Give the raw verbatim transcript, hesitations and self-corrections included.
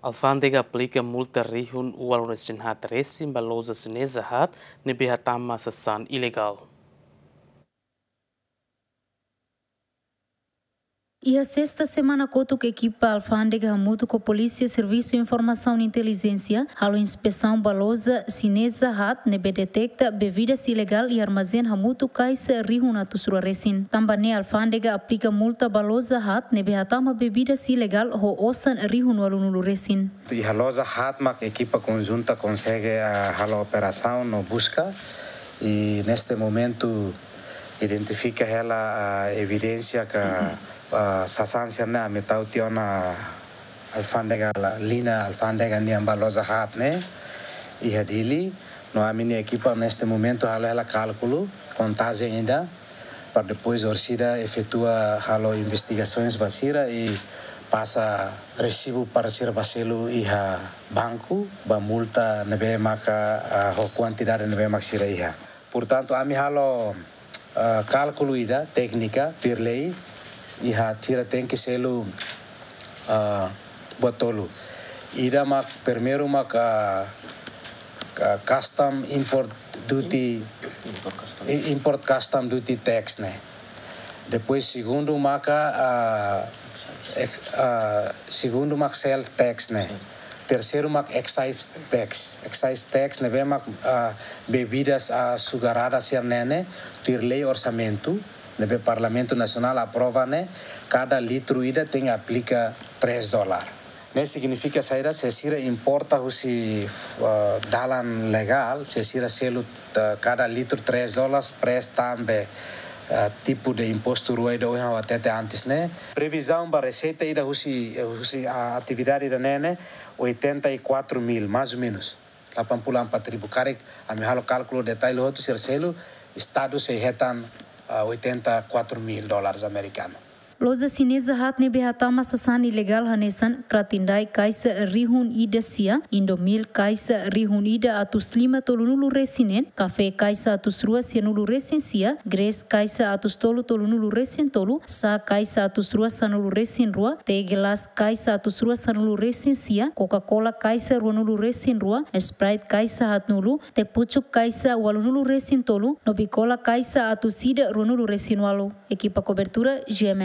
Alfándega aplika multa rihun ualu resin haat resin ba loja xineza haat ne'ebé hatama sasán ilegál. Iha sesta semana kotuk ekipa alfándega hamutuk ho polísia servisu informasaun intelijénsia halo inspesaun ba loja xineza haat ne'ebé deteta bebidas ilegál iha armazén hamutuk kaixa rihun atus rua resin. Tanba ne'e alfándega aplika multa ba loja haat ne'ebé hatama bebidas ilegál ho osan rihun ualunulu resin. Iha loja haat mak ekipa konjunta konsege, ah, halo operasaun no buska. I neste momentu identifika hela, ah, evidénsia ka, ah, sasán sira-ne'e ami tau tiha ona alfándega la-, liña alfándega nian ba loja haat ne'e iha Dili. No ami-nia ekipa neste momentu halo hela kálkulu, kontajen ida, para depois orsida efetua halo investigasaun ba sira i pasa resibu para sira ba selu iha banku, ba multa ne'ebé maka, ah, ho kuantidade ne'ebé mak sira iha. Portantu, ami halo, ah, kálkulu ida, téknika, tuir lei, iha sira tenke selu, ah, buat tolu. Ida mak, primeiru mak, ah, ka-, custom import duty, Import custom. I-, import custom duty tax ne'e. Depois segundu maka, ah, ex-, ah, segundu mak sales tax ne'e. Terseiru mak excise tax. Excise tax ne'ebé mak, ah, bebidas, ah, açucarada sira-ne'e ne'e, tuir lei orsamentu ne'ebé Parlamentu Nasionál aprova ne'e, kada litru ida tenke aplika três dólar. Ne'e signifika saida? Se sira importa husi, ah, dalan legál, se sira selu, ah, kada litru três dólar, presu tanba, ah, tipu de impostu rua ida ohin ha'u hatete antes ne'e. Previzaun ba reseita ida husi, husi, ah, atividade ida-ne'e ne'e oitenta e quatro mil, mais ou menos. Delapan puluh empat ribu karik, ami halo kálkulu detalle hotu sira selu, Estadu sei hetan, ah, oitenta e quatro mil dólares americano. Loja xineza haat ne'ebé hatama sasán ilegál hanesan Kratin Daik kaixa rihun ida sia, Indomil kaixa rihun ida atus lima tolunulu resin neen, kafé kaixa atus rua sianulu resin sia, Grace kaixa atus tolu tolunulu resin tolu, sá kaixa atus rua sanulu resin rua, Tegelas kaixa atus rua sanulu resin sia, Coca-Cola kaixa ruanulu resin rua, Sprite kaixa haatnulu, Tepucuk kaixa ualunulu resin tolu, no Bicola kaixa atus ida ruanulu resin ualu. Ekipa kobertura, G M N.